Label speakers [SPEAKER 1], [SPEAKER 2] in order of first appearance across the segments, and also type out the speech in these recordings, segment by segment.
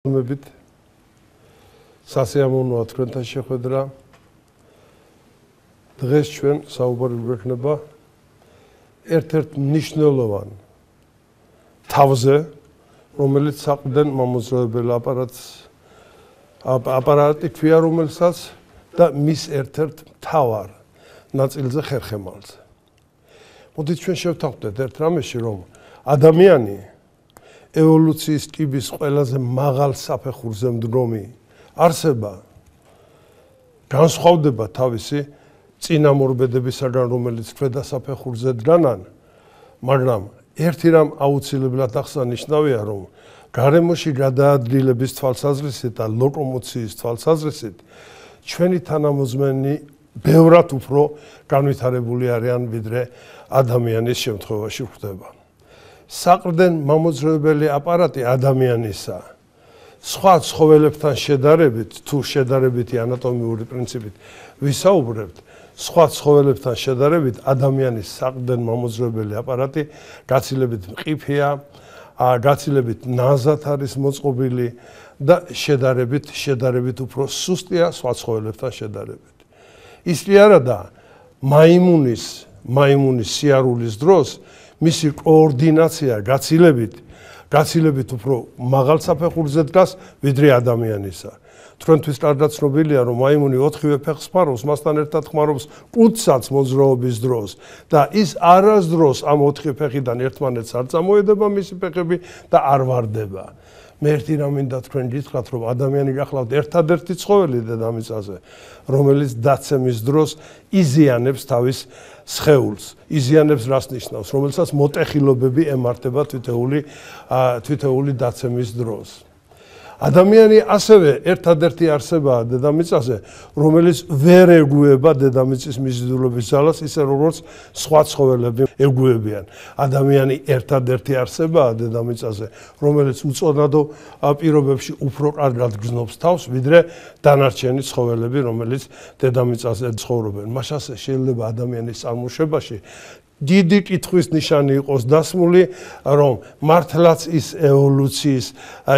[SPEAKER 1] მებით სასიამოვნოა თქვენთან შეხვედრა. დღეს ჩვენ საუბარი გვექნება ერთ-ერთ მნიშვნელოვან თავზე, რომელიც საყრდენ მომოძრაობელ აპარატი ქვია, რომელსაც და მის ერთ-ერთ მთავარ ნაწილზე ხერხემალზე. მოდით ჩვენ შევთანხმდეთ ერთ რამეში, რომ ადამიანი ევოლუციის კიბის ყველაზე მაღალ საფეხურზე მდგომი არსება განსხვავდება თავისი წინამორბედებისაგან, რომელიც ქვედა საფეხურზე დგანან, მაგრამ ერთი რამ აუცილებლად აღსანიშნავია, რომ გარემოში გადაადგილების თვალსაზრისით და ლოკომოციის თვალსაზრისით ჩვენი თანამოძმენი ბევრად უფრო განვითარებული არიან, ვიდრე ადამიანის შემთხვევაში ხდება. საყრდენ მომოძრაობელი აპარატი ადამიანისა სხვა ცხოველებთან შედარებით, თუ შედარებითი ანატომიური პრინციპით ვისაუბრებთ, სხვა ცხოველებთან შედარებით ადამიანის საყრდენ მომოძრაობელი აპარატი გაცილებით მყიფეა, გაცილებით ნაზად არის მოწყობილი და შედარებით უფრო სუსტია სხვა ცხოველებთან შედარებით. ის კი არა და მაიმუნის სიარულის დროს მისი კოორდინაცია გაცილებით უფრო მაღალ საფეხურზე დგას, ვიდრე ადამიანისა. თქვენთვის კარგად ცნობილია, რომ მაიმუნი 4-ვე ფეხს ხმარობს, მასთან ერთად ხმარობს კუდსაც მოძრაობის დროს და ის არასდროს ამ 4 ფეხიდან ერთმანეთს არ წამოედება მისი ფეხები და არ ვარდება. მე ერთი რამ მინდა თქვენ გითხრათ, რომ ადამიანი გახლავთ ერთადერთი ცხოველი დედამიწაზე, რომელიც დაცემის დროს იზიანებს თავის სხეულს. იზიანებს რას ნიშნავს, რომელსაც მოტეხილობები ემართება თითოეული დაცემის დროს. ადამიანი ასევე ერთადერთი არსებაა დედამიწაზე, რომელიც ვერ ეგუება დედამიწის მიზიდულობის ძალას, ისე როგორც სხვა ცხოველები ეგუებიან. ადამიანი ერთადერთი არსებაა დედამიწაზე, რომელიც უწონადო პირობებში უფრო კარგად გრძნობს თავს, ვიდრე დანარჩენი ცხოველები, რომელიც დედამიწაზე ცხოვრობენ. მაშასე შეიძლება ადამიანის წარმოშობაში დიდი კითხვის ნიშანი იყოს დასმული, რომ მართლაც ის ევოლუციის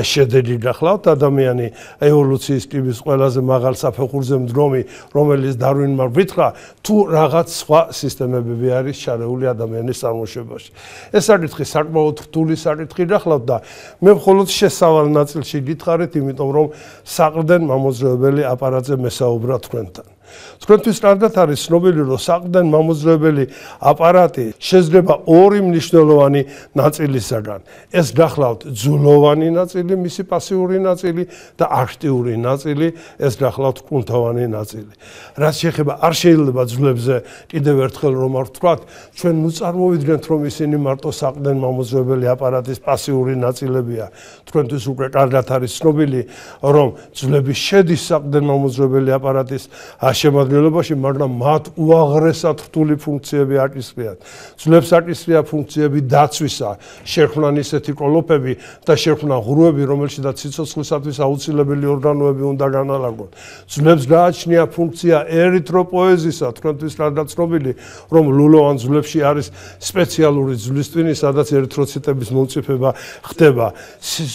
[SPEAKER 1] შედეგი გახლავთ, ადამიანი ევოლუციის კიბის ყველაზე მაღალ საფეხურზე მდგომი, რომელიც დარვინმა ვითხრა, თუ რაღაც სხვა სისტემები არის შარეული ადამიანის წარმოშობაში. ეს საკითხი საკმაოდ რთული საკითხი გახლავთ და მე მხოლოდ შესავალ ნაწილში გითხარით, იმიტომ რომ საყრდენ მომოძრაობელი აპარატზე მესაუბრა თქვენთან. თქვენთვის კარგად არის ცნობილი, რომ საყრდენ მომოძრაობელი აპარატი შედგება ორი მნიშვნელოვანი ნაწილისაგან. ეს გახლავთ ძვლოვანი ნაწილი, მისი პასიური ნაწილი და აქტიური ნაწილი, ეს გახლავთ კუნთოვანი ნაწილი. რაც შეეხება არ შეიძლება ძვლებზე კიდევ ერთხელ რომ არ ვთქვათ, ჩვენ ნუ წარმოვიდგენთ, რომ ისინი მარტო საყრდენ მომოძრაობელი აპარატის პასიური ნაწილებია. თქვენთვის უკვე კარგად არის ცნობილი, რომ ძვლები შედის საყრდენ მომოძრაობელი აპარატის შემადგენლობაში, მაგრამ მათ უაღრესად რთული ფუნქციები აკისრიათ. ძვლებს აკისრია ფუნქციები დაცვისა, შექმნან ისეთი კოლოფები და შექმნან ღრუები, რომელშიც სიცოცხლისათვის აუცილებელი ორგანოები უნდა განალაგონ. ძვლებს გააჩნია ფუნქცია ერითროპოეზისა, თქვენთვის კარგად ცნობილი, რომ ლულოვან ძვლებში არის სპეციალური ძვლის ტვინი, სადაც ერითროციტების მომწიფება ხდება.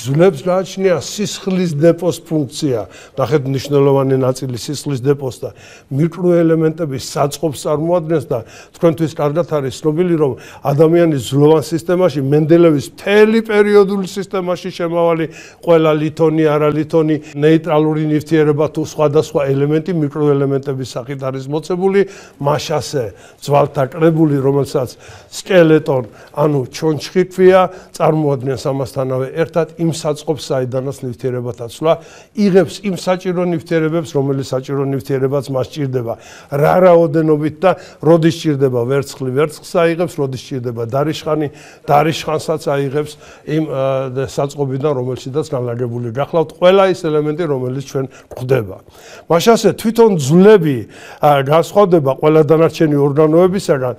[SPEAKER 1] ძვლებს გააჩნია სისხლის დეპოს ფუნქცია, ნახეთ მნიშვნელოვანი ნაწილი სისხლის დეპოს და მიკროელემენტების საწყობს წარმოადგენს და თქვენთვის კარგად არის ცნობილი, რომ ადამიანის ძვლოვან სისტემაში, მენდელევის მთელი პერიოდული სისტემაში შემავალი ყველა ლითონი, არალითონი, ნეიტრალური ნივთიერება თუ სხვადასხვა ელემენტი მიკროელემენტების სახით არის მოცებული, მაშასე ძვალთა კრებული, რომელსაც სკელეტონ, ანუ ჩონჩხი ქვია, წარმოადგენს ამასთანავე ერთად იმ საწყობს, საიდანაც ნივთიერება დაცვლა იღებს იმ საჭირო ნივთიერებებს, რომელიც საჭირო ნივთიერებაც მას ჭირდება. რა რაოდენობით და როდის ჭირდება ვერცხლი, ვერცხლს აიღებს, როდის ჭირდება დარიშხანი, დარიშხანსაც აიღებს იმ საწყობიდან, რომელშიც განლაგებული გახლავთ ყველა ის ელემენტი, რომელიც ჩვენ გვხვდება. მაშასე თვითონ ძვლები განსხვავდება ყველა დანარჩენი ორგანოებისაგან,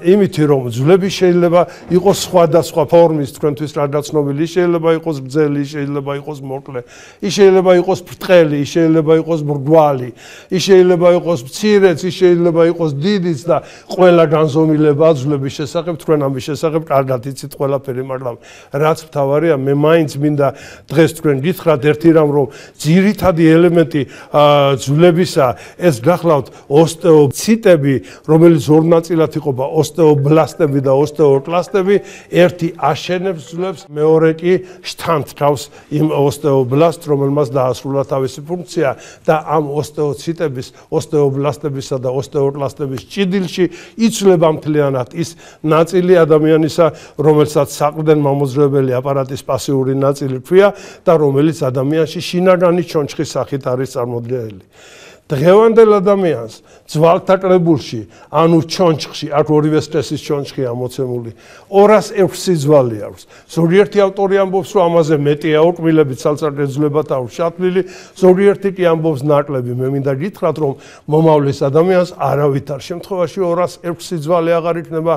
[SPEAKER 1] იმითი რომ ძვლები შეიძლება იყოს სხვადასხვა ფორმის, თქვენთვის კარგად ცნობილი, შეიძლება იყოს გრძელი, შეიძლება იყოს მოკლე, შეიძლება იყოს ბრტყელი, შეიძლება იყოს მრგვალი, შეიძლება შეიძლება იყოს მცირეც, ის შეიძლება იყოს დიდიც და ყველა განზომილება აძლევების შესახებ თქვენ ამის შესახებ კარგად იცით ყველაფერი, მაგრამ რაც მთავარია, მე მაინც მინდა დღეს თქვენ გითხრათ ერთი რამ, რომ ძირითადი ელემენტი ძვლებისა ეს გახლავთ ოსტეოციტები, რომელიც ორ ნაწილად იყოფა, ოსტეობლასტები და ოსტეოკლასტები, ერთი აშენებს ძვლებს, მეორე კი შთანთ თავს იმ ოსტეობლასტს, რომელმაც დაასრულა თავისი ფუნქცია და ამ ოსტეოციტების, ოსტეობლასტებისა და ოსტეოკლასტების ჭიდილში იცვლება მთლიანად ის ნაწილი ადამიანისა, რომელსაც საყრდენ მამოძრავებელი აპარატის პასიური ნაწილი ქვია და რომელიც ადამიანში შინაგანი ჩონჩხის სახით არის წარმოდგენილი. დღევანდელ ადამიანს ძვალთა კრებულში, ანუ ჩონჩხში, აქ ორივე სტრესის ჩონჩხია მოცემული, 206 ძვალი აქვს. ზოგიერთი ავტორი ამბობს, რომ ამაზე მეტია ოკმილებით ცალ-ცალკე ძვლებად აქვს ჩათვლილი, ზოგიერთი კი ამბობს ნაკლები. მე მინდა გითხრათ, რომ მომავლის ადამიანს არავითარ შემთხვევაში 206 ძვალი აღარ იქნება.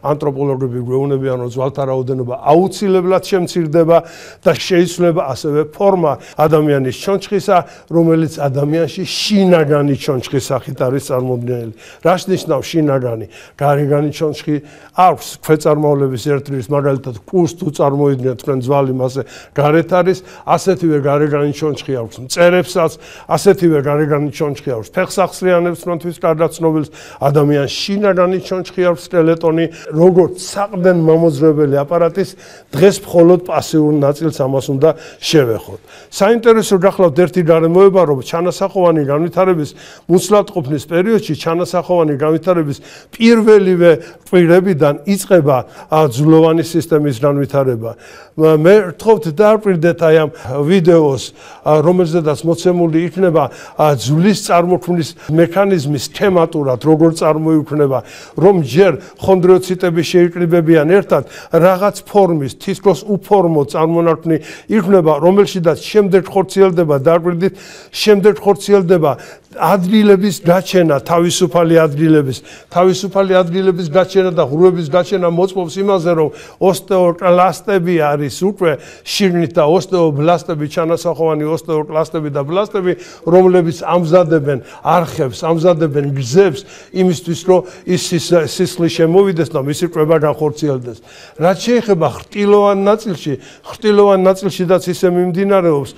[SPEAKER 1] ანთროპოლოგები გვეუბნებიან, რომ ძვალთა რაოდენობა აუცილებლად შემცირდება და შეიცვლება ასევე ფორმა ადამიანის ჩონჩხისა, რომელიც ადამიანში შინაგანი ჩონჩხის სახით არის წარმოდგენილი. რას ნიშნავს შინაგანი? გარეგანი ჩონჩხი აქვს ქვეწარმავლების ერთდროის, მაგალითად კუს თუ წარმოიდგინეთ თქვენ ძვალი მასე გარეთ არის, ასეთივე გარეგანი ჩონჩხი აქვს მწერებსაც, ასეთივე გარეგანი ჩონჩხი აქვს ფეხსახსრიანებს, თვითონ კარგად ცნობილს, ადამიანს შინაგანი ჩონჩხი აქვს სკელეტონი, როგორც საყრდენ მამოძრავებელი აპარატის, დღეს მხოლოდ პასიურ ნაწილს ამას უნდა შევეხოთ. საინტერესო გახლავთ ერთი გარემოება, რომ ჩანასახოვანი განვითარების მუცლადყოფნის პერიოდში ჩანასახოვანი განვითარების პირველივე კვირებიდან იწყება ძვლოვანი სისტემის განვითარება. მე ვთხოვთ დააკვირდეთ აი ამ ვიდეოს, რომელზედაც მოცემული იქნება ძვლის წარმოქმნის მექანიზმი სქემატურად, როგორ წარმოიქმნება, რომ ჯერ ხონდრიოციტები შეიკრიბებიან ერთად, რაღაც ფორმის, თითქოს უფორმო წარმონაქმნი იქნება, რომელშიდაც შემდეგ ხორციელდება, დააკვირდით, შემდეგ ხორციელდება ადგილების გაჩენა, თავისუფალი ადგილების გაჩენა და ღრუების გაჩენა მოწმობს იმაზე, რომ ოსტეოკლასტები არის უკვე შიგნით და ოსტეობლასტები, ჩანასახოვანი ოსტეოკლასტები და ბლასტები, რომლებიც ამზადებენ არხებს, ამზადებენ გზებს იმისთვის, რომ ის სისხლი შემოვიდეს და მისი კვება განხორციელდეს. რაც შეეხება ხრტილოვან ნაწილშიდაც ისე მიმდინარეობს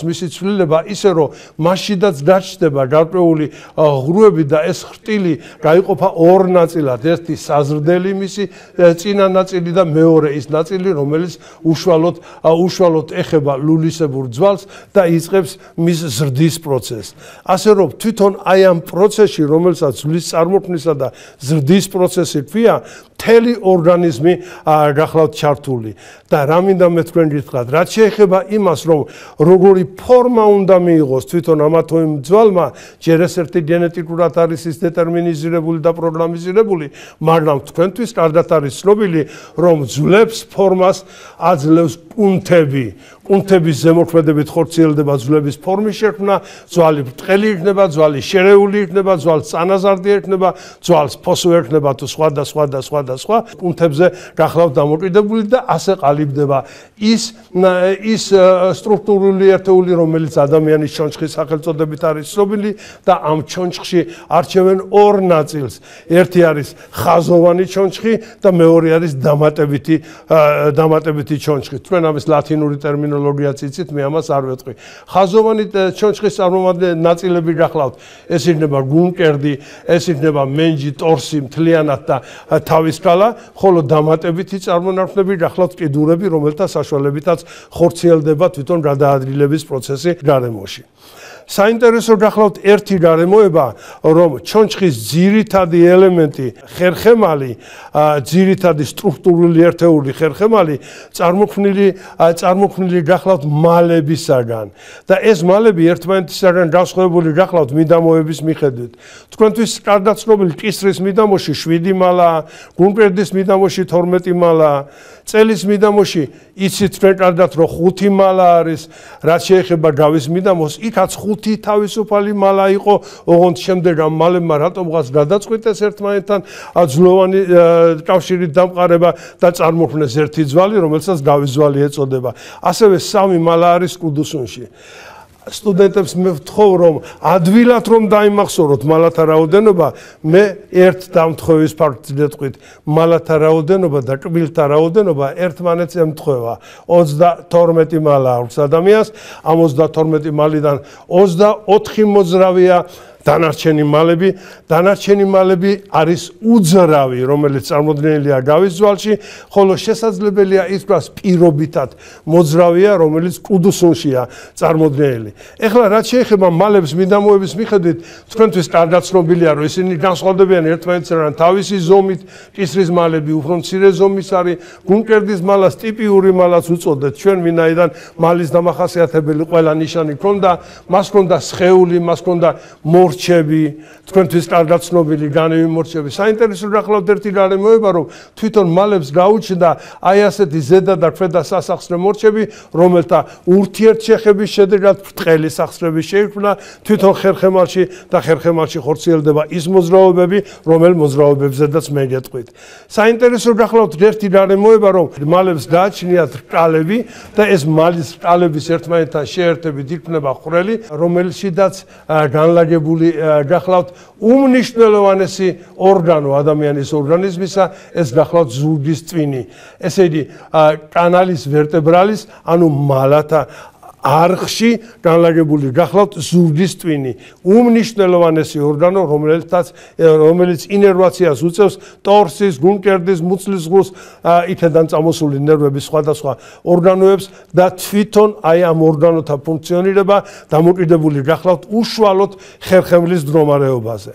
[SPEAKER 1] მისი ცვლილება, ისე რომ მასშიდაც გაჩნდება გარკვეული ღრუები და ეს ხრტილი გაიყოფა ორ ნაწილად, ერთი საზრდელი მისი წინა ნაწილი და მეორე ის ნაწილი, რომელიც უშუალოდ ეხება ლულისებურ ძვალს და იწყებს მის ზრდის პროცესს. ასე რომ თვითონ აი ამ პროცესში, რომელსაც ძვლის წარმოქმნისა და ზრდის პროცესი ქვია, მთელი ორგანიზმი გახლავთ ჩართული. და რა მინდა მე თქვენ გითხრათ, რაც შეეხება იმას, რომ როგორი ფორმა უნდა მიიღოს თვითონ ამა თუ იმ ძვალმა, ჯერ ეს ერთი გენეტიკურად არის ის დეტერმინიზირებული და პროგრამიზირებული, მაგრამ თქვენთვის კარგად არის ცნობილი, რომ ძვლებს ფორმას აძლევს კუნთები. კუნთების ზემოქმედებით ხორციელდება ძვლების ფორმის შექმნა, ძვალი ბრტყელი იქნება, ძვალი შერეული იქნება, ძვალს წანაზარდი ექნება, ძვალს ფოსო ექნება თუ სხვა და სხვა და სხვა და სხვა კუნთებზე გახლავთ დამოკიდებული და ასე ყალიბდება ის სტრუქტურული ერთეული, რომელიც ადამიანის ჩონჩხის სახელწოდებით არის ცნობილი და ამ ჩონჩხში არჩევენ ორ ნაწილს. ერთი არის ხაზოვანი ჩონჩხი და მეორე არის დამატებითი ჩონჩხი. თქვენ ამის ლათინური ტერმინოლოგიაც იცით, მე ამას არ ვეტყვი. ხაზოვანი ჩონჩხის წარმომადგენელი ნაწილები გახლავთ, ეს იქნება გუნკერდი, ეს იქნება მენჯი, ტორსი მთლიანად და თავის კალა, ხოლო დამატებითი წარმონაქმნები გახლავთ კიდურები, რომელთა საშუალებითაც ხორციელდება თვითონ გადაადგილების პროცესი გარემოში. საინტერესო გახლავთ ერთი გარემოება, რომ ჩონჩხის ძირითადი ელემენტი ხერხემალი, ძირითადი სტრუქტურული ერთეული ხერხემალი წარმოქმნილი გახლავთ მალებისაგან და ეს მალები ერთმანეთისაგან განსხვავებული გახლავთ მიდამოების მიხედვით. თქვენთვის კარგად ცნობილი კისრის მიდამოში 7 მალაა, გუნკერდის მიდამოში 12 მალაა, წელის მიდამოში იცით თქვენ კარგად, რომ 5 მალა არის, რაც შეეხება გავის მიდამოს, იქაც 5 თავისუფალი მალა იყო, ოღონდ შემდეგ ამ მალებმა რატომღაც გადაწყვიტეს ერთმანეთთან ძვლოვანი კავშირით დამყარება და წარმოქმნეს ერთი ძვალი, რომელსაც გავის ძვალი ეწოდება. ასევე 3 მალა არის კუდუსუნში. სტუდენტებს მე ვთხოვ რომ ადვილად რომ დაიმახსოვროთ მალათა რაოდენობა, მე ერთ დამთხოვის ფაქტზე ვთქვით, მალათა რაოდენობა და კბილთა რაოდენობა ერთმანეთს ემთხვევა. 32 მალა აქვს ადამიანს, ამ 32 მალიდან 24 მოძრავია დანარჩენი მალები არის უძრავი, რომელიც წარმოდგენილია გავის ძვალში, ხოლო შესაძლებელია ითქვას პირობითად მოძრავია, რომელიც კუდუსუნშია წარმოდგენილი. ეხლა რაც შეეხება მალების მიდამოების მიხედვით, თქვენთვის კარგად ცნობილია, რომ ისინი განსხვავდებიან ერთმანეთისგან თავისი ზომით, კისრის მალები უფრო მცირე ზომის არის, გუნკერდის მალას ტიპიური მალაც უწოდეთ. ჩვენ ვინაიდან მალის დამახასიათებელი ყველა ნიშანი ქონდა, მას ქონდა სხეული, მას ქონდა მორჩები, თქვენთვის კარგად ცნობილი განივი მორჩები. საინტერესო გახლავთ ერთი რამე მოება, რომ თვითონ მალებს გაუჩნდა აი ასეთი ზედა და ქვედა სასახსრე მორჩები, რომელთა ურთიერთშეხების შედეგად ბრტყელი სახსრები შეიქმნა თვითონ ხერხემალში და ხერხემალში ხორციელდება ის მოძრაობები, რომელ მოძრაობებზედაც მე გეტყვით. საინტერესო გახლავთ ერთი რამე მოება, რომ მალებს გააჩნიათ რკალები და ეს მალის რკალების ერთმანეთთან შეერთებით იქმნება ხვრელი, რომელშიდაც განლაგებული გახლავთ უმნიშვნელოვანესი ორგანო ადამიანის ორგანიზმისა, ეს გახლავთ ზურგის წვინი. ესე იგი, კანალის ვერტებრალის, ანუ მალათა არხში განლაგებული გახლავთ ზურგის წვინი. უმნიშვნელოვანესი ორგანო, რომელიც ინერვაციას უწევს ტორსის, გუნკერდის, მუცლის ღრუს, იქედან წამოსული ნერვების სხვადასხვა ორგანოებს და თვითონ აი ამ ორგანოთა ფუნქციონირება დამოკიდებული გახლავთ უშუალოდ ხერხემლის მდგომარეობაზე.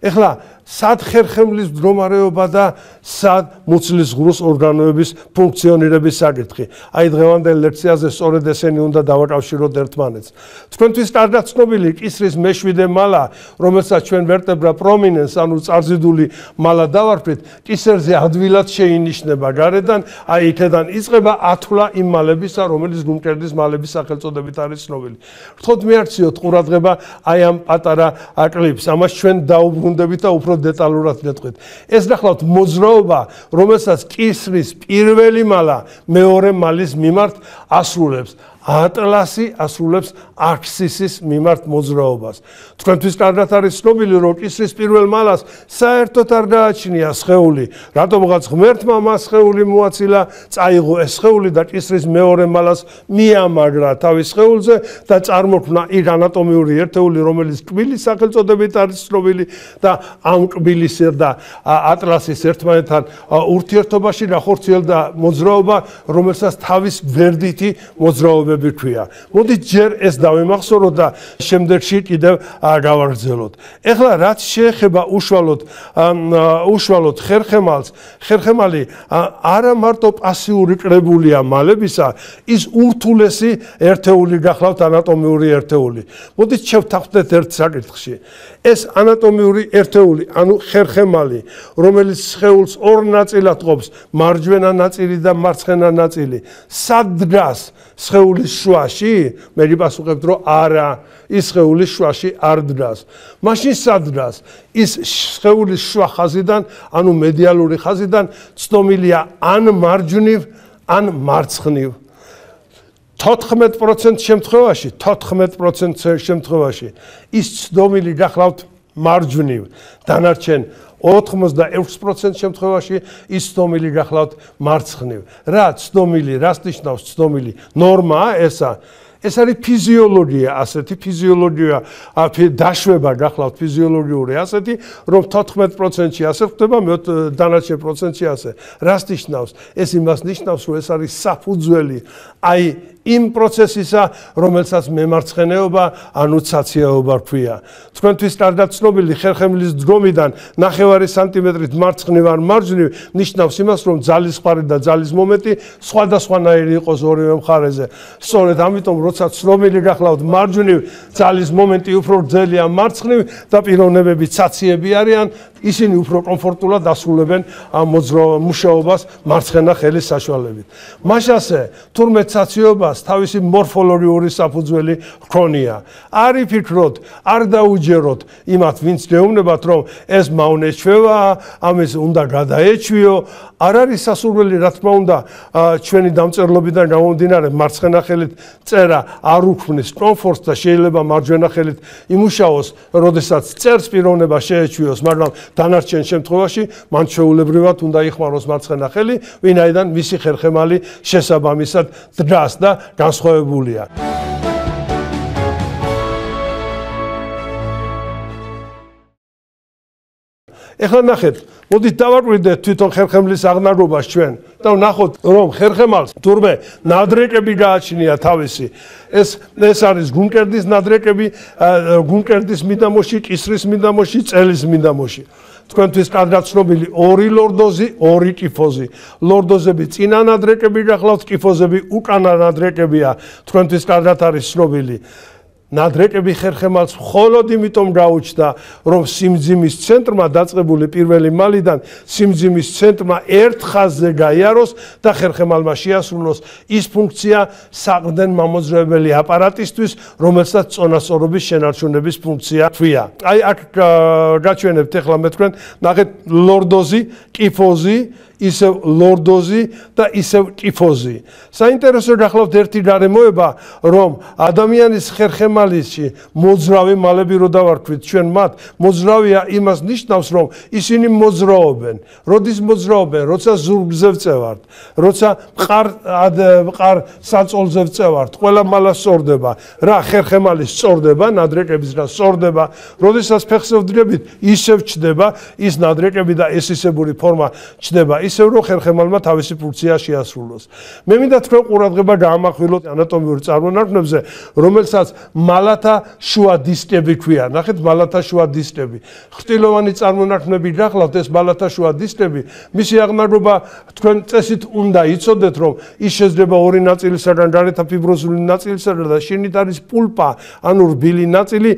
[SPEAKER 1] ეხლა სად ხერხემლის მდგომარეობა და სად მუცლის ღრუს ორგანოების ფუნქციონირების საკითხი. აი დღევანდელ ლექციაზე სწორედ ესენი უნდა დავაკავშიროთ ერთმანეთს. თქვენთვის კარგად ცნობილი კისრის მეშვიდე მალა, რომელსაც ჩვენ ვერტებრა პრომინენს, ანუ წარზიდული მალა დავარქვით, კისერზე ადვილად შეინიშნება გარედან, აი იქედან იწყება ათვლა იმ მალებისა, რომელიც გუნკერდის მალების სახელწოდებით არის ცნობილი. ვთხოვთ მიაქციოთ ყურადღება აი ამ პატარა კლიპს. ამას ჩვენ დაუბრუნდებით და უფრო დეტალურად გეტყვით. ეს გახლავთ მოძრაობა, რომელსაც კისრის პირველი მალა მეორე მალის მიმართ ასრულებს. ატლასი ასრულებს აქსისის მიმართ მოძრაობას. თქვენთვის კარგად არის ცნობილი, რომ კისრის პირველ მალას საერთოდ არ გააჩნია სხეული. რატომღაც ღმერთმა მას სხეული მოაცილა, წაიღო ეს სხეული და კისრის მეორე მალას მიამაგრა თავის სხეულზე და წარმოქმნა იქ ანატომიური ერთეული, რომელიც კბილის სახელწოდებით არის ცნობილი და ამ კბილის და ატლასის ერთმანეთთან ურთიერთობაში განხორციელდა მოძრაობა, რომელსაც თავის გვერდითი მოძრაობა ქვია. მოდით ჯერ ეს დავიმახსოვროთ და შემდეგში კიდევ გავაგრძელოთ. ეხლა რაც შეეხება უშუალოდ ხერხემალს, ხერხემალი არა მარტო პასიური კრებულია მალებისა, ის ურთულესი ერთეული გახლავთ ანატომიური ერთეული. მოდით შევთანხმდეთ ერთ საკითხში. ეს ანატომიური ერთეული, ანუ ხერხემალი, რომელიც სხეულს ორ ნაწილად ყოფს, მარჯვენა ნაწილი და მარცხენა ნაწილი, სად დგას სხეულის შუაში? მე გიპასუხებთ, რომ არა, ის სხეულის შუაში არ დგას. მაშინ სად დგას? ის სხეულის შუა ხაზიდან, ანუ მედიალური ხაზიდან ცდომილია ან მარჯვნივ, ან მარცხნივ. 14% შემთხვევაში ის ცდომილი გახლავთ მარჯვნივ. დანარჩენ 86% შემთხვევაში ის ცდომილი გახლავთ მარცხნივ. რა ცდომილი, რას ნიშნავს ცდომილი? ნორმაა ესა? ეს არის ფიზიოლოგია, ასეთი ფიზიოლოგია, დაშვება გახლავთ ფიზიოლოგიური ასეთი, რომ 14%-ში ასე ხდება, დანარჩენ პროცენტში ასე. რას ნიშნავს? ეს იმას ნიშნავს, რომ ეს არის საფუძველი აი იმ პროცესისა, რომელსაც მემარცხენეობა, ანუ ცაციაობა ქვია. თქვენთვის კარგად ცნობილი ხერხემლის დგომიდან 9 სანტიმეტრით მარცხნივ ან მარჯვნივ ნიშნავს იმას, რომ ძალის მხარი და ძალის მომენტი სხვადასხვანაირი იყოს ორივე მხარეზე. სწორედ ამიტომ, როცა ცნობილი გახლავთ მარჯვნივ, ძალის მომენტი უფრო გრძელია მარცხნივ და პიროვნებები ცაციები არიან, ისინი უფრო კომფორტულად ასრულებენ ამ მუშაობას მარცხენა ხელის საშუალებით. მაშასე, თურმე ცაციობას თავისი მორფოლოგიური საფუძველი ჰქონია. არ იფიქროთ, არ დაუჯეროთ იმათ, ვინც გეუბნებათ, რომ ეს მავნე ჩვევა, ამის უნდა გადაეჩვიო, არ არის სასურველი, რა თქმა უნდა, ჩვენი დამწერლობიდან გამომდინარე მარცხენა ხელით წერა არ უქმნის კომფორტს და შეიძლება მარჯვენა ხელით იმუშაოს, როდესაც წერს პიროვნება შეეჩვიოს, მაგრამ დანარჩენ შემთხვევაში მან ჩვეულებრივად უნდა იხმაროს მარცხენა ხელი, ვინაიდან მისი ხერხემალი შესაბამისად დგას და განსხვავებულია. ეხლა ნახეთ, მოდით დავაკვირდეთ თვითონ ხერხემლის აღნაგობას ჩვენ და ვნახოთ, რომ ხერხემალს თურმე ნადრეკები გააჩნია თავისი. ეს არის გუნკერდის ნადრეკები, გუნკერდის მიდამოში, კისრის მიდამოში, წელის მიდამოში. თქვენთვის კარგად ცნობილი 2 ლორდოზი, 2 კიფოზი. ლორდოზები წინა ნადრეკები გახლავთ, კიფოზები უკანა ნადრეკებია. თქვენთვის კარგად არის ცნობილი. ნადრეკები ხერხემალს მხოლოდ იმიტომ გაუჩნდა, რომ სიმძიმის ცენტრმა დაწყებული პირველი მალიდან სიმძიმის ცენტრმა ერთ ხაზზე გაიაროს და ხერხემალმა შეასრულოს ის ფუნქცია საყრდენ მამოძრავებელი აპარატისთვის, რომელსაც წონასწორობის შენარჩუნების ფუნქცია ჰქვია. აი აქ გაჩვენებთ ახლა მე თქვენ, ნახეთ ლორდოზი, კიფოზი, ისევ ლორდოზი და ისევ კიფოზი. საინტერესო გახლავთ ერთი გარემოება, რომ ადამიანის ხერხემალში მოძრავი მალები რო დავარქვით ჩვენ მათ, მოძრავია იმას ნიშნავს, რომ ისინი მოძრაობენ. როდის მოძრაობენ? როცა ზურგზე ვწევართ, როცა მყარ საწოლზე ვწევართ, ყველა მალა სწორდება. რა ხერხემალი სწორდება, ნადრეკების რა სწორდება, როდესაც ფეხზე ვდგებით, ისევ ჩდება ის ნადრეკები და ეს ისებური ფორმა ჩდება. ისევ რომ ხერხემალმა თავისი ფუნქცია შეასრულოს. მე მინდა თქვენ ყურადღება გაამახვილოთ ანატომიურ წარმონარქმებზე, რომელსაც მალათა შუა დისკები ქვია. ნახეთ, მალათა შუა დისკები. ხრტილოვანი წარმონარქმები გახლავთ, ეს მალათა შუა დისკები. მისი აღნაგობა თქვენ წესით უნდა იცოდეთ, რომ ის შეძრება ორი ნაწილისაგან, გარეთა ფიბროზული ნაწილისაგან და შიგნით არის პულპა, ანუ რბილი ნაწილი,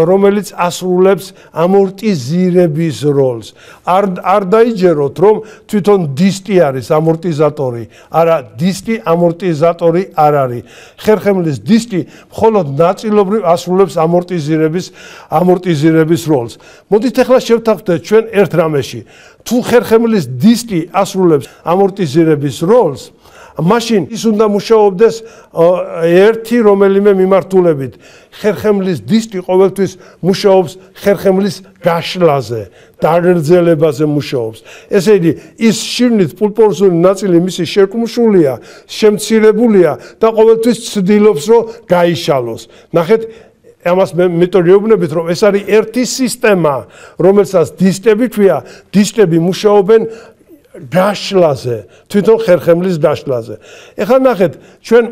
[SPEAKER 1] რომელიც ასრულებს ამორტიზირების როლს. არ დაიჯეროთ, რომ თვითონ დისტი არის ამორტიზატორი, არა, დისტი ამორტიზატორი არ არის. ხერხემლის დისტი მხოლოდ ნაწილობრივ ასრულებს ამორტიზირების როლს. მოდით ახლა შევთანხმდეთ ჩვენ ერთ რამეში. თუ ხერხემლის დისტი ასრულებს ამორტიზირების როლს, მაშინ ის უნდა მუშაობდეს ერთი რომელიმე მიმართულებით. ხერხემლის დისტი ყოველთვის მუშაობს ხერხემლის გაშლაზე, დაგრძელებაზე მუშაობს. ესე იგი, ის შიგნით პულპოზური ნაწილი მისი შეკუმშულია, შემცირებულია და ყოველთვის ცდილობს, რომ გაიშალოს. ნახეთ, ამას მე მეტოდიობნებით, რომ ეს არის ერთი სისტემა, რომელსაც დისტები ქვია, დისტები მუშაობენ გაშლაზე, თვითონ ხერხემლის გაშლაზე. ეხლა ნახეთ, ჩვენ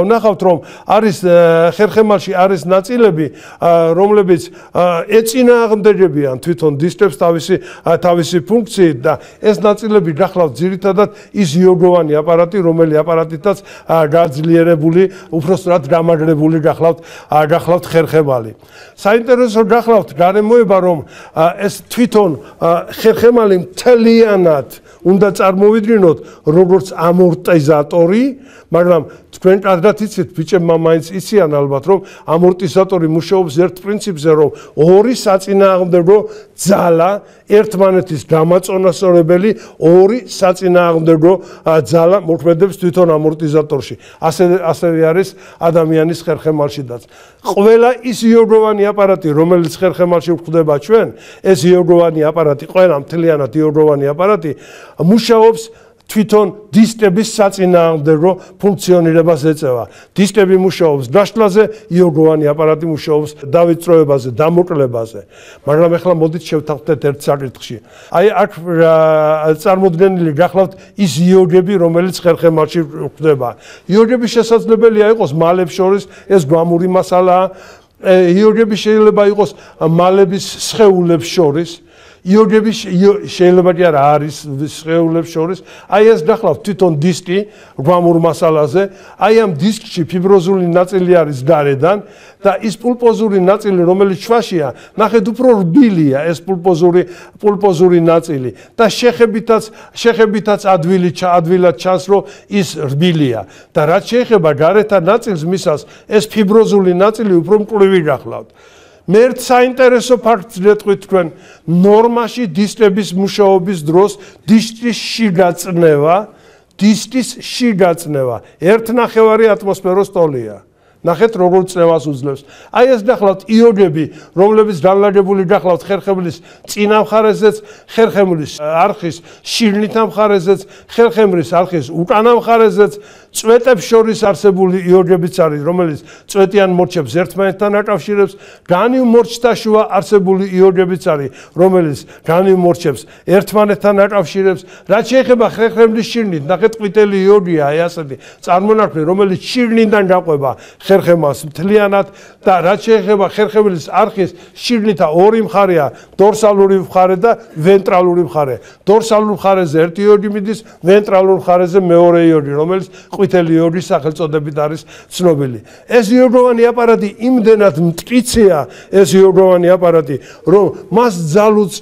[SPEAKER 1] ვნახავთ, რომ არის ხერხემალში არის ნაწილები, რომლებიც ეწინააღმდეგებიან თვითონ დისტებს თავისი ფუნქციით და ეს ნაწილები გახლავთ ძირითადად ის იოგოვანი აპარატი, რომელი აპარატითაც გაძლიერებული, უბრალოდ გამაგრებული გახლავთ ხერხემალი. საინტერესო გახლავთ გარემოება, რომ ეს თვითონ ხერხემალი მთლიანად უნდა წარმოვიდგინოთ როგორც ამორტიზატორი, მაგრამ თქვენ კარგად იცით, ბიჭებმა მაინც იციან ალბათ, რომ ამორტიზატორი მუშაობს ერთ პრინციპზე, რომ ორი საწინააღმდეგო ძალა ერთმანეთის გამაწონასწორებელი ორი საწინააღმდეგო ძალა მოქმედებს თვითონ ამორტიზატორში. ასევე არის ადამიანის ხერხემალშიდაც. ყველა ის იოგოვანი აპარატი, რომელიც ხერხემალში გვხვდება ჩვენ, ეს იოგოვანი აპარატი, ყველა მთლიანად იოგოვანი აპარატი მუშაობს თვითონ დისტების საწინააღმდეგო ფუნქციონირებას ეწევა. დისტები მუშაობს გაშლაზე, იოგოვანი აპარატი მუშაობს დავიწროებაზე, დამოკლებაზე. მაგრამ ახლა მოდით შევთანხმდეთ ერთ საკითხში. აი აქ წარმოდგენილი გახლავთ ის იოგები, რომელიც ხერხემალში გვხვდება. იოგები შესაძლებელია იყოს მალებს შორის, ეს გვამური მასალაა. იოგები შეიძლება იყოს მალების სხეულებს შორის. იოგები შეიძლება კი არა არის სხეულებს შორის. აი ეს გახლავთ თვითონ დისტი გვამურ მასალაზე. აი ამ დისკში ფიბროზული ნაწილი არის გარედან და ის პულპოზური ნაწილი, რომელიც ჩვაშია, ნახეთ უფრო რბილია ეს პულპოზური ნაწილი და შეხებითაც ადვილად ჩანს, რომ ის რბილია და რაც შეეხება გარეთა ნაწილს მისას, ეს ფიბროზული ნაწილი უფრო მკვრივი გახლავთ. მე საინტერესო ფაქტს გეტყვით თქვენ ნორმაში დისკების მუშაობის დროს დისკის შიგაწნევა 1/9 ატმოსფეროს ტოლია. ნახეთ როგორ წნევას უძლებს. აი ეს ნახავთ იოდები, რომლებიც განლაგებული ნახავთ ხერხემლის წინა მხარეზეც, ხერხემლის არხის შიგნით მხარეზეც, ხერხემლის არხის უკანა მხარეზეც, წვეტებს შორის არსებული იოდებიც არის, რომელიც წვეტიან მორჩებს ერთმანეთთან აკავშირებს, განივ მორჩთა შუა არსებული იოდებიც არის, რომელიც განივ მორჩებს ერთმანეთთან აკავშირებს. რაც შეეხება ხერხემლის შიგნით, ნახეთ ყვითელი იოდია, აი ასეთი წარმონაქმნი, რომელიც შიგნიდან გაყვება ხერხემას მთლიანად და რაც შეეხება ხერხემლის არხის შიგნითა ორი მხარეა, დორსალური მხარე და ვენტრალური მხარე. დორსალურ მხარეზე ერთი იოდი მიდის, ვენტრალურ მხარეზე მეორე იოდი, რომელიც ყვითელი იოდის სახელწოდებით არის ცნობილი. ეს იოდოვანი აპარატი იმდენად მტკიცეა, ეს იოდოვანი აპარატი, რომ მას ძალუც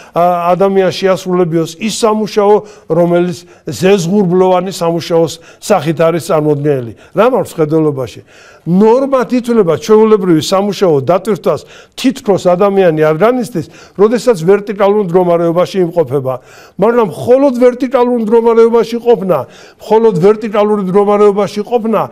[SPEAKER 1] ადამიანს შეასრულებიოს ის სამუშაო, რომელიც ზეზღურბლოვანი სამუშაოს სახით არის წარმოდგენილი. რა მაქვს ხედველობაში? ნორმად ითვლება ჩვეულებრივი სამუშაო დატვირთვას თითქოს ადამიანი არ განიცდის, როდესაც ვერტიკალურ მდგომარეობაში იმყოფება. მაგრამ მხოლოდ ვერტიკალურ მდგომარეობაში ყოფნა,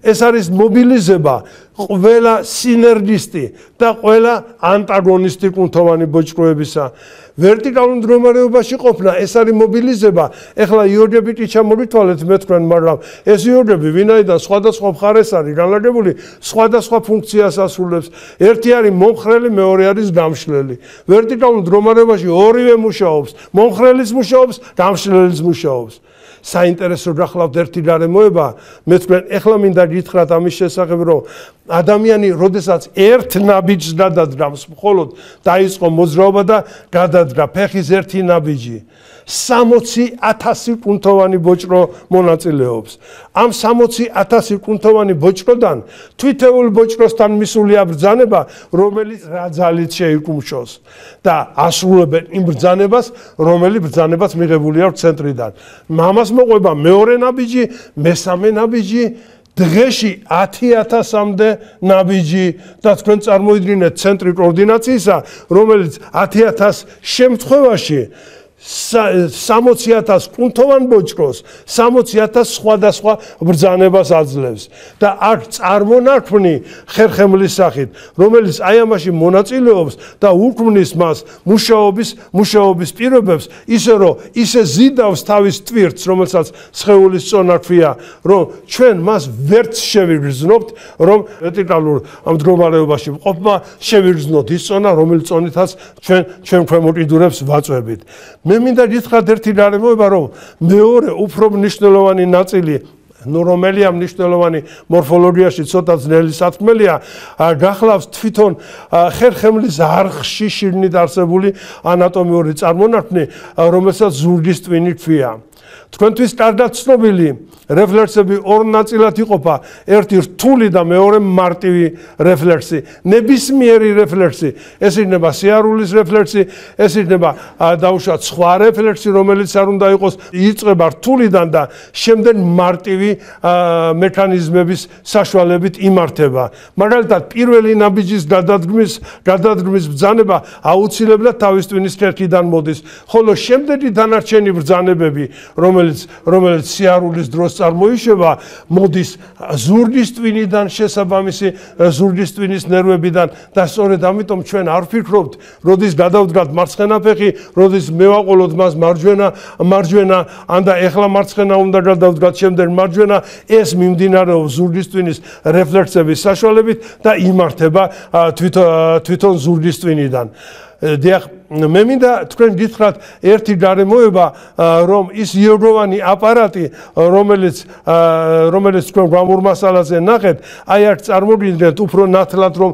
[SPEAKER 1] ეს არის მობილიზება ყველა სინერგისტი და ყველა ანტაგონისტი კუნთოვანი ბოჭკოებისა. ვერტიკალურ მდგომარეობაში ყოფნა, ეს არის მობილიზება. ეხლა იოდებით ჩამოვიტვალეთ მე თქვენ, მაგრამ ეს იოდები ვინაიდან სხვადასხვა მხარეს არის განლაგებული, სხვადასხვა ფუნქციას ასრულებს. ერთი არის მომხრელი, მეორე არის გამშლელი. ვერტიკალურ მდგომარეობაში ორივე მუშაობს, მომხრელის მუშაობს, გამშლელის მუშაობს. საინტერესო გახლავთ ერთი გარემოება, მე თქვენ ეხლა მინდა გითხრათ ამის შესახებ, რომ ადამიანი როდესაც ერთ ნაბიჯს გადადგამს, მხოლოდ დაიწყო მოძრაობა და გადადგა ფეხის ერთი ნაბიჯი, 60,000 კუნთოვანი ბოჭკო მონაწილეობს. ამ 60,000 კუნთოვანი ბოჭკოდან თვითეულ ბოჭკოსთან მისული აბრძანება, რომელიც რა ძალით შეიკუმშოს და ასრულებენ იმ ბრძანებას, რომელიც ბრძანებას მიღებული აქვს ცენტრიდან. მამას მოყვება მეორე ნაბიჯი, მესამე ნაბიჯი, დღეში 10,000-მდე ნაბიჯი და თქვენ წარმოიდგინეთ ცენტრი კოორდინაციისა, რომელიც 10,000 შემთხვევაში 60,000 კუნთოვან ბოჭკოს 60,000 სხვადასხვა ბრძანებას აძლევს და აქ წარმონაქმნი ხერხემლის სახით, რომელიც აი ამაში მონაწილეობს და უქმნის მას მუშაობის პირობებს, ისე რომ ისე ზიდავს თავის ტვირთს, რომელსაც სხეულის წონა ქვია, რომ ჩვენ მას ვერც შევიგრძნობთ, რომ ვერტიკალურ მდგომარეობაში მყოფმა შევიგრძნოთ ის წონა, რომელიც წონითაც ჩვენ ქვემო კიდურებს ვაწვევით. მე მინდა გითხრათ ერთი გარემოება, რომ მეორე უფრო მნიშვნელოვანი ნაწილი, რომელია მნიშვნელოვანი მორფოლოგიაში ცოტა ძნელი სათქმელია, გახლავს თვითონ ხერხემლის არხში შიგნით არსებული ანატომიური წარმონაქმნი, რომელსაც ზურგის ტვინი ქვია. თქვენთვის კარგად ცნობილი რეფლექსები ორ ნაწილად იყოფა, ერთი რთული და მეორე მარტივი რეფლექსი. ნებისმიერი რეფლექსი, ეს იქნება სიარულის რეფლექსი, ეს იქნება დაუშვათ სხვა რეფლექსი, რომელიც არ უნდა იყოს, იწყება რთულიდან და შემდეგ მარტივი მექანიზმების საშუალებით იმართება. მაგალითად, პირველი ნაბიჯის გადადგმის ბრძანება აუცილებლად თავის ტვინის ქერქიდან მოდის, ხოლო შემდეგი დანარჩენი ბრძანებები, რომელიც სიარულის დროს წარმოიშვა, მოდის ზურგის ტვინიდან, შესაბამისი ზურგის ტვინის ნერვებიდან და სწორედ ამიტომ ჩვენ არ ვფიქრობთ, როდის გადავდგათ მარცხენა ფეხი, როდის მევაყოლოთ მას მარჯვენა, ან და ეხლა მარცხენა უნდა გადავდგათ, შემდეგ მარჯვენა, ეს მიმდინარეობს ზურგის ტვინის რეფლექსების საშუალებით და იმართება თვითონ ზურგის ტვინიდან. დიახ, მე მინდა თქვენ გითხრათ ერთი გარემოება, რომ ის იოდოვანი აპარატი, რომელიც თქვენ გვამურ მასალაზე ნახეთ, აი აქ წარმოგიდგენთ უფრო ნათლად რომ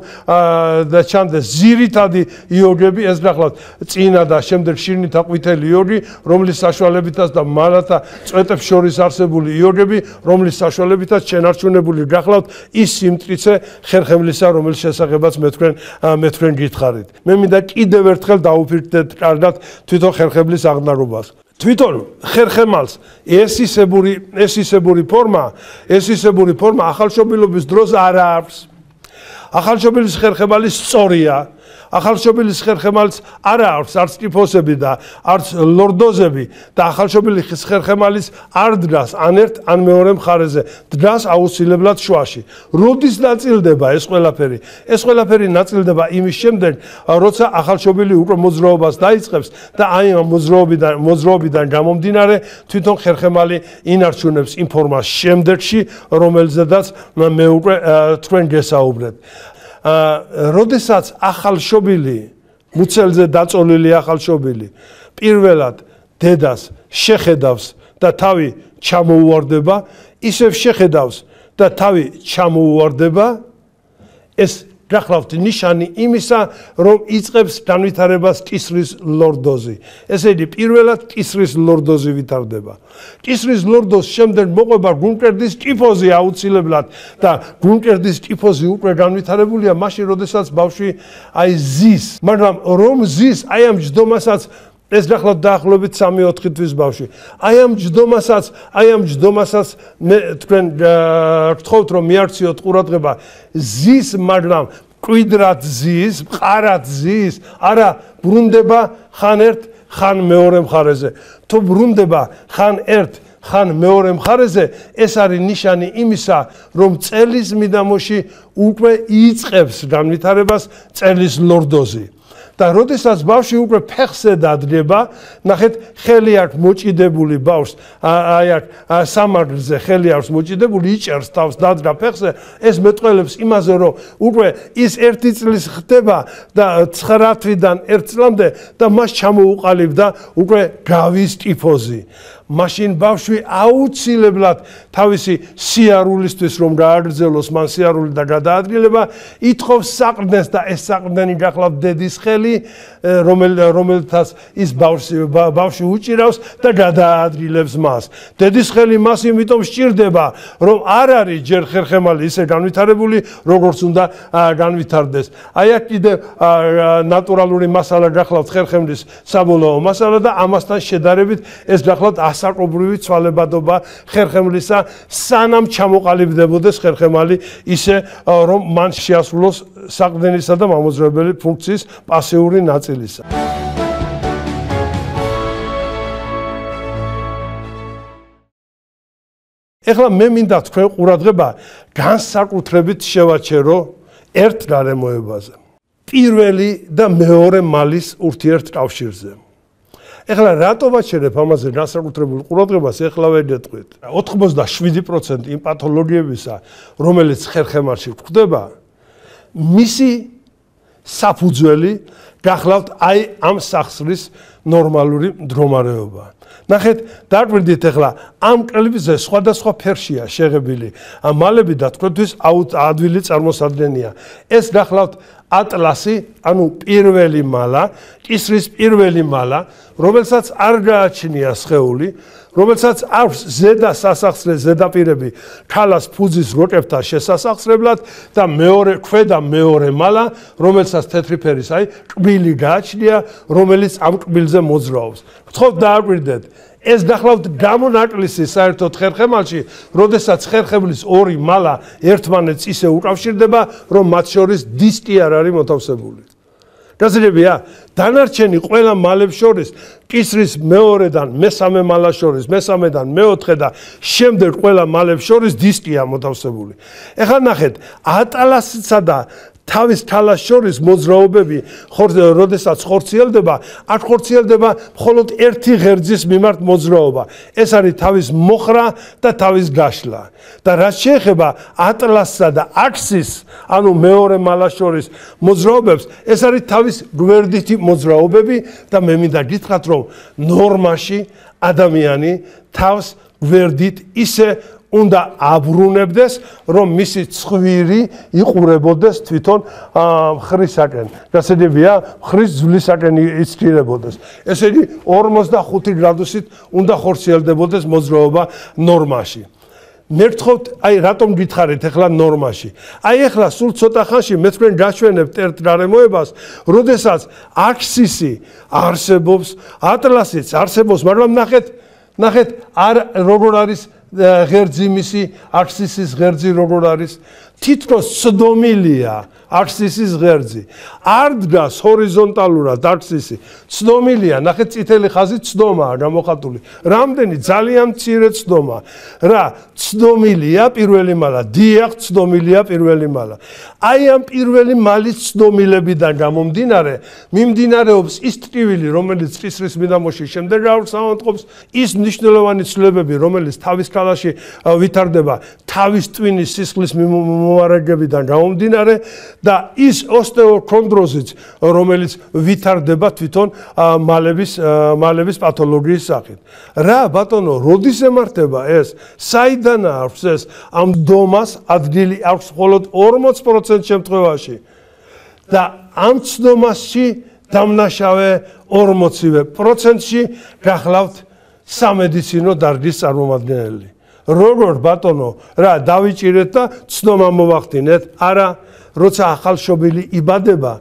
[SPEAKER 1] და ჩანდეს ძირითადი იოდები, ეს ნახავთ წინა და შემდეგ შიგნითა ყვითელი იოდი, რომლის საშუალებითაც და მალათა წვეტებს შორის არსებული იოდები, რომლის საშუალებითაც შენარჩუნებული გახლავთ ის სიმტკიცე ხერხემლისა, რომლის შესახებაც მე თქვენ გითხარით. მე მინდა კიდევ ერთხელ დაუფიქრდეთ კარგად თვითონ ხერხემლის აღნაგობას. თვითონ ხერხემალს ეს ისებური ფორმა ახალშობილობის დროს არ აქვს. ახალშობილის ხერხემალი სწორია. ახალშობილის ხერხემალს არა აქვს არც ტიფოსები და არც ლორდოზები და ახალშობილის ხერხემალის არ დგას ან ერთ ან მეორე მხარეზე, დგას აუცილებლად შუაში. როდის ნაწილდება ეს ყველაფერი? ეს ყველაფერი ნაწილდება იმის შემდეგ, როცა ახალშობილი უკვე მოძრაობას დაიწყებს და აი ამ მოძრაობიდან გამომდინარე თვითონ ხერხემალი ინარჩუნებს იმ ფორმას შემდეგში, რომელზედაც მე უკვე თქვენ გესაუბრეთ. როდესაც ახალშობილი, მუცელზე დაწოლილი ახალშობილი პირველად დედას შეხედავს და თავი ჩამოუვარდება, ისევ შეხედავს და თავი ჩამოუვარდება, ეს გახლავთ ნიშანი იმისა, რომ იწყებს განვითარებას კისრის ლორდოზი. ესე იგი, პირველად კისრის ლორდოზი ვითარდება. კისრის ლორდოზს შემდეგ მოყვება გუნკერდის ტიფოზი აუცილებლად და გუნკერდის ტიფოზი უკვე განვითარებულია მაშინ, როდესაც ბავშვი აი ზის, მაგრამ რომ ზის, აი ამ ჯდომასაც ეს გახლავთ დაახლოებით 3-4 თვის ბავშვი. აი ამ ჯდომასაც მე თქვენ გთხოვთ რომ მიარჩიოთ ყურადღება, ზის, მაგრამ კვიდრად ზის, მყარად ზის, არა ბრუნდება ხან ერთ, ხან მეორე მხარეზე. თუ ბრუნდება ხან ერთ, ხან მეორე მხარეზე, ეს არის ნიშანი იმისა, რომ წელის მიდამოში უკვე იწყებს განვითარებას წელის ლორდოზი. და როდესაც ბავშვი უკვე ფეხზე დადგება, ნახეთ, ხელი აქვს მოჭიდებული ბავშვს, აი აქ სამაგრზე ხელი აქვს მოჭიდებული, იჭერს თავს დადგა ფეხზე, ეს მეტყველებს იმაზე, რომ უკვე ის 1 წლის ხდება და 9 თვიდან 1 წლამდე და მას ჩამოუყალიბდა უკვე გავის ტიფოზი. მაშინ ბავშვი აუცილებლად თავისი სიარულისთვის რომ გააგრძელოს მან სიარული და გადაადგილება, ითხოვს საყრდენს და ეს საყრდენი გახლავთ დედის ხელი, რომელთაც ის ბავშვი უჭირავს და გადაადგილებს მას. დედის ხელი მას იმიტომ სჭირდება, რომ არ არის ჯერ ხერხემალი ისე განვითარებული, როგორც უნდა განვითარდეს. აი აქ კიდე ნატურალური მასალა გახლავთ ხერხემლის საბოლოო მასალა და ამასთან შედარებით ეს გახლავთ ასაკობრივი ცვალებადობა ხერხემლისა, სანამ ჩამოყალიბდებოდეს ხერხემალი ისე, რომ მან შეასრულოს საყრდენისა და მამოძრავებელი ფუნქციის პასიური ნაწილისა. ეხლა მე მინდა თქვენ ყურადღება განსაკუთრებით შევაჩერო ერთ გარემოებაზე. პირველი და მეორე მალის ურთიერთკავშირზე. ეხლა რატო ვაჩერებ ამაზე განსაკუთრებულ ყურადღებას, ეხლა ვერ გეტყვით. 87% იმ პათოლოგიებისა, რომელიც ხერხემალში გვხვდება, მისი საფუძველი გახლავთ აი ამ სახსრის ნორმალური მდგომარეობა. ნახეთ, დაგვირდით ეხლა ამ კლიპზე სხვადასხვა ფერშია შეღებილი მალები და თქვენთვის ადვილი წარმოსადგენია. ეს გახლავთ ატლასი, ანუ პირველი მალა, კისრის პირველი მალა, რომელსაც არ გააჩნია სხეული, რომელსაც აქვს ზედა სასახსრე ზედაპირები ქალას ფუძის როკებთან შესასახსრებლად და ქვედა მეორე მალა, რომელსაც თეთრი ფერის აი კბილი გააჩნია, რომელიც ამ კბილზე მოძრაობს. გთხოვთ დააკვირდეთ, ეს გახლავთ გამონაკლისი საერთოდ ხერხემალში, როდესაც ხერხემლის ორი მალა ერთმანეთს ისე უკავშირდება, რომ მათ შორის დისკი არ არის მოთავსებული. გასაგებია, დანარჩენი ყველა მალებს შორის, კისრის მეორედან მესამე მალას შორის, მესამედან მეოთხე და შემდეგ ყველა მალებს შორის დისკია მოთავსებული. ეხლა ნახეთ, ატლასისა და თავის თალას შორის მოძრაობები, როდესაც ხორციელდება, აქ ხორციელდება მხოლოდ ერთი ღერძის მიმართ მოძრაობა. ეს არის თავის მოხრა და თავის გაშლა. და რაც შეეხება ატლასსა და აქსის, ანუ მეორე მალას შორის მოძრაობებს, ეს არის თავის გვერდითი მოძრაობები და მე მინდა გითხრათ, რომ ნორმაში ადამიანი თავს გვერდით ისე უნდა აბრუნებდეს, რომ მისი ცხვირი იყურებოდეს თვითონ მხრისაკენ. გასაგებია, მხრის ძვლისაკენ იცქირებოდეს. ესე იგი, 45 გრადუსით უნდა ხორციელდებოდეს მოძრაობა ნორმაში. მე გთხოვთ, აი რატომ გითხარით ეხლა ნორმაში? აი ეხლა სულ ცოტა ხანში მე თქვენ გაჩვენებთ ერთ გარემოებას, როდესაც აქსისი არსებობს, ატლასიც არსებობს, მაგრამ ნახეთ, არ როგორ არის ღერძი მისი აქსისის ღერძი როგორ არის თითქოს ცდომილია აქსისის ღერძი არ დგას ჰორიზონტალურად აქსისი ცდომილია ნახეთ წითელი ხაზი ცდომაა გამოხატული რამდენი ძალიან მცირე ცდომა რა ცდომილია პირველი მალა დიახ ცდომილია პირველი მალა აი ამ პირველი მალის ცდომილებიდან გამომდინარე მიმდინარეობს ის ტკივილი რომელიც წისრის მიდამოში შემდეგ ავსავანტყოფს ის მნიშვნელოვანი ცვლილებები რომელიც თავის ქალაში ვითარდება თავის ტვინის სისხლის მომარაგებიდან გამომდინარე და ის ოსტეოქონდროზიც რომელიც ვითარდება თვითონ მალების პათოლოგიის სახით. რა ბატონო, როდის ემართება ეს? საიდან აქვს ეს? ამ დომას ადგილი აქვს მხოლოდ 40% შემთხვევაში. და ამ ცდომასში დამნაშავე 40%-ში გახლავთ სამედიცინო დარგის წარმომადგენელი. როგორ ბატონო, რა დავიჭირეთ და ცდომა მოვახდინეთ? არა, როცა ახალშობილი იბადება,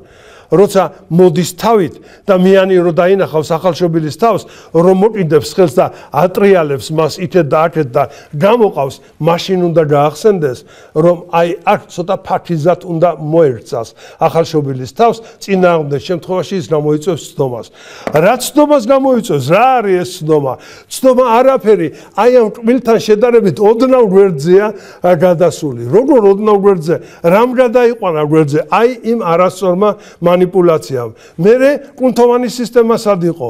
[SPEAKER 1] როცა მოდის თავით და მიანი რო დაინახავს ახალშობილის თავს, რომ მოკიდებს ხელს და ატრიალებს მას იქეთ და აქეთ და გამოყავს, მაშინ უნდა გაახსენდეს, რომ აი აქ ცოტა ფაქიზად უნდა მოერწას ახალშობილის თავს, წინააღმდეგ შემთხვევაში ის გამოიწვევს ცდომას. რა ცდომას გამოიწვევს? რა არის ეს ცდომა? ცდომა არაფერი, აი ამ კბილთან შედარებით ოდნავ გვერდზეა გადასული. როგორ ოდნავ გვერდზე? რამ გადაიყვანა გვერდზე? აი იმ არასწორმა манипуляციამ. მერე კუნთოვანი სისტემა სად იყო?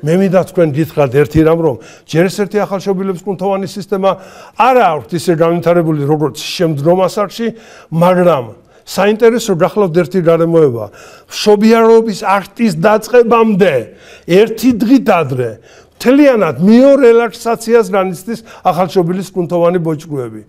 [SPEAKER 1] მე მინდა თქვენ გითხრათ ერთი რამ, რომ ჯერ ერთი ახალშობილების კუნთოვანი სისტემა არა აქვს ისე განვითარებული როგორც შემდგომ ასაკში, მაგრამ საინტერესო გახლავთ ერთი გარემოება. მშობიარობის აქტის დაწყებამდე ერთი დღით ადრე თლიანად მიორელაქსაციას განიცდის ახალშობილის კუნთოვანი ბოჭკუები.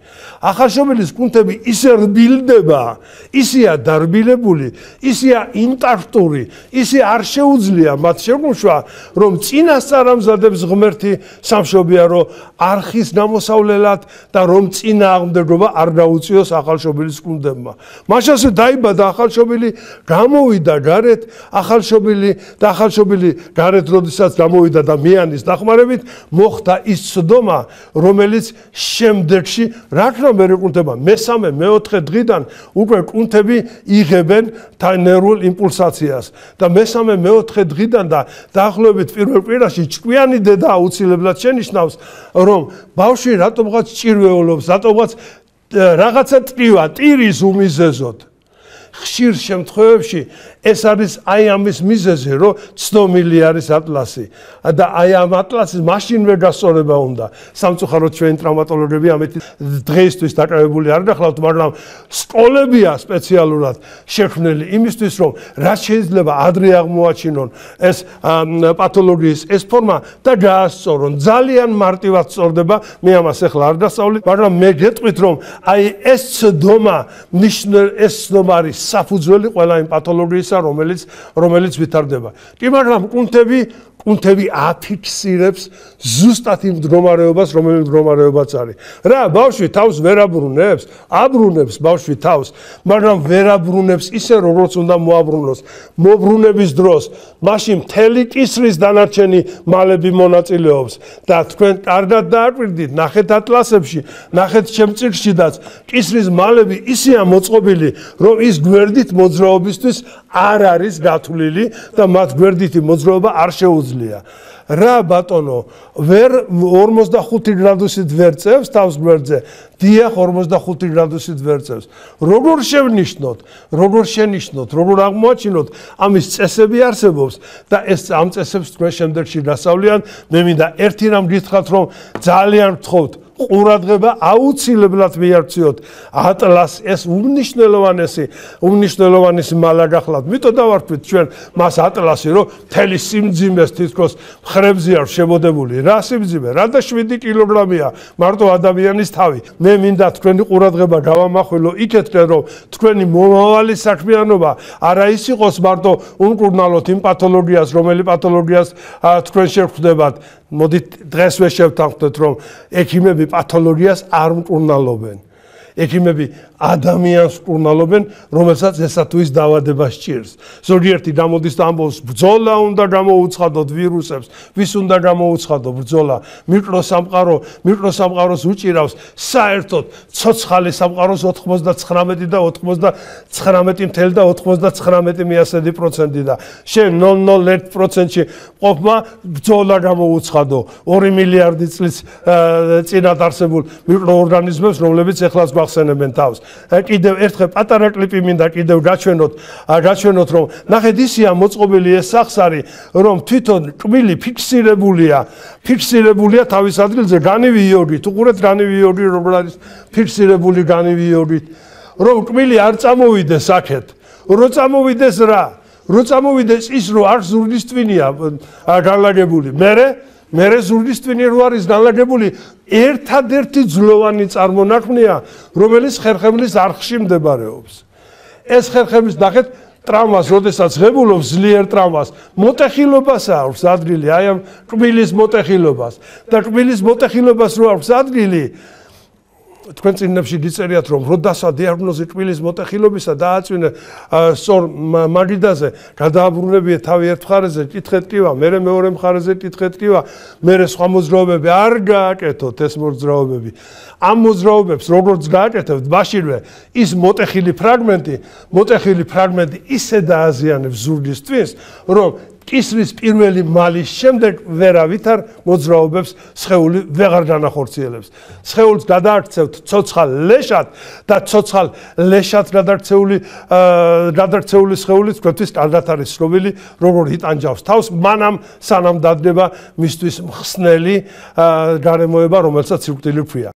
[SPEAKER 1] ახალშობილის კუნთები ისე რბილდება, ისეა დარბილებული, ისეა ინტაქტური, ისე არ შეუძლია მათ შეგუშვა, რომ წინასწარ ამზადებს ღმერთი სამშობიარო არხის გამოსავლელად და რომ წინააღმდეგობა არ გაუწიოს ახალშობილის კუნთებმა. მაშასე დაიბადა ახალშობილი, გამოვიდა გარეთ, ახალშობილი გარეთ როდესაც გამოვიდა და მიანის დახმარებით მოხდა ის ცდომა, რომელიც შემდეგში რა ქნა მე კუნთება მესამე მეოთხე დღიდან უკვე კუნთები იღებენ ნერვულ იმპულსაციას და მესამე მეოთხე დღიდან და დაახლოებით პირველ კვირაში ჭკვიანი დედა აუცილებლად შენიშნავს, რომ ბავშვი რატომღაც ჭირვეულობს, რატომღაც რაღაცა ტკივა ტირის უმიზეზოდ. ხშირ შემთხვევებში ეს არის აი ამის მიზეზი, რომ ცდომილი არის ატლასი და აი ამ ატლასის მაშინვე გასწორება უნდა. სამწუხაროდ ჩვენი ტრავმატოლოგები ამით დღეისთვის დაკავებული არ გახლავთ, მაგრამ სკოლებია სპეციალურად შექმნილი იმისთვის, რომ რაც შეიძლება ადრე აღმოაჩინონ ეს პათოლოგიის ეს ფორმა და გაასწორონ. ძალიან მარტივად სწორდება, მე ამას ახლა არ დასწავლით, მაგრამ მე გეტყვით, რომ აი ეს ცდომა ეს ცდომა არის საფუძველი ყველა იმ პათოლოგიისა, რომელიც ვითარდება. კი, მაგრამ კუნთები აფიქსირებს ზუსტად იმ მდგომარეობას, რომელიც მდგომარეობაც არის. რა, ბავშვი თავს ვერ აბრუნებს? აბრუნებს ბავშვი თავს, მაგრამ ვერ აბრუნებს ისე, როგორც უნდა მოაბრუნოს. მოbrunების დროს მაშინ მთელი კისრის დანარჩენი მალები მონაწილეობს და თქვენ კარგად დააკვირდით, ნახეთ ატლასებში, ნახეთ შემწირშიდაც, კისრის მალები ისეა მოწყობილი, რომ ის გვერდით მოძრაობისთვის არ არის გათვლილი და მათ გვერდითი მოძრაობა არ შეუძლია. რა ბატონო, ვერ 45 გრადუსით ვერ წევს თავს გვერდზე? დიახ, 45 გრადუსით ვერ წევს. როგორ შევნიშნოთ, როგორ აღმოაჩინოთ? ამის წესები არსებობს და ეს ამ წესებს თქვენ შემდეგში გასავლიან. მე მინდა ერთი რამ გითხრათ, რომ ძალიან გთხოვთ, ყურადღება აუცილებლად მიაქციოთ ატლას ეს უმნიშვნელოვანესი მალა გახლავთ. მითო დავარქვით ჩვენ მას ატლასი, რომ მთელი სიმძიმეს თითქოს მხრებზე არ შემოდებული. რა სიმძიმე? რა და 7 კილოგრამია მარტო ადამიანის თავი. მე მინდა თქვენი ყურადღება გავამახვილო იქეთკენ, რომ თქვენი მომავალი საქმიანობა არა ის იყოს მარტო უმკურნალოთ იმ პათოლოგიას, რომელი პათოლოგიას თქვენ შევხვდებათ. მოდით დღესვე შევთანხმდეთ, რომ ექიმები პათოლოგიას არ მკურნალობენ. ექიმები ადამიანს კურნალობენ, რომელსაც ესა თუ ის დაავადება სჭირს. ზოგიერთი გამოდის და ამბობს, ბრძოლა უნდა გამოუცხადოთ ვირუსებს, ვის უნდა გამოუცხადო ბრძოლა? მიკროსამყაროს უჭირავს საერთოდ ცოცხალი სამყაროს 99 და 99.99% და შენ 0.01%-ში ყოფმა ბრძოლა გამოუცხადო 2 მილიარდი წლის წინათ არსებულ მიკროორგანიზმებს, რომლებიც ეხლაც გახსენებენ თავს. კიდევ ერთხელ პატარა კლიპი მინდა კიდევ გაჩვენოთ, რომ ნახეთ ისია მოწყობილი ეს სახსარი, რომ თვითონ კბილი ფიქსირებულია თავის ადგილზე განივი იოდით. უყურეთ განივი იოდი როგორ არის ფიქსირებული განივი იოდით, რომ კბილი არ წამოვიდეს აქეთ. რო წამოვიდეს რა? რო წამოვიდეს ის, რომ არ ზურგის ტვინია განლაგებული. მერე ზურგის ტვინი რო არის განლაგებული, ერთადერთი ძლოვანი წარმონაქმნია, რომელიც ხერხემლის არხში მდებარეობს. ეს ხერხემლის ნახეთ ტრავმას, როდესაც ღებულობს ძლიერ ტრავმას, მოტეხილობას აქვს ადგილი, აი ამ კბილის მოტეხილობას. და კბილის მოტეხილობას რო აქვს ადგილი, თქვენ წიგნებში გიწერიათ, რომ როდასა დიაგნოზი კბილის მოტეხილობისა დააწვინე სწორ მაგიდაზე, გადააბრუნებიეთ თავი ერთ მხარეზე, კითხეთ ტკივა, მერე მეორე მხარეზე კითხეთ ტკივა, მერე სხვა მოძრაობები არ გააკეთოთ ეს მოძრაობები. ამ მოძრაობებს როგორც გააკეთებთ, მაშინვე ის მოტეხილი ფრაგმენტი ისე დააზიანებს ზურგის ტვინს, რომ კისრის პირველი მალის შემდეგ ვერავითარ მოძრაობებს სხეული ვეღარ განახორციელებს. სხეულს გადააქცევთ ცოცხალ ლეშად და ცოცხალ ლეშად გადარჩეული სხეული თქვენთვის კარგად არის ცნობილი, როგორ იტანჯავს თავს, მანამ სანამ დადგება მისთვის მხსნელი გარემოება, რომელსაც სიკვდილი ჰქვია.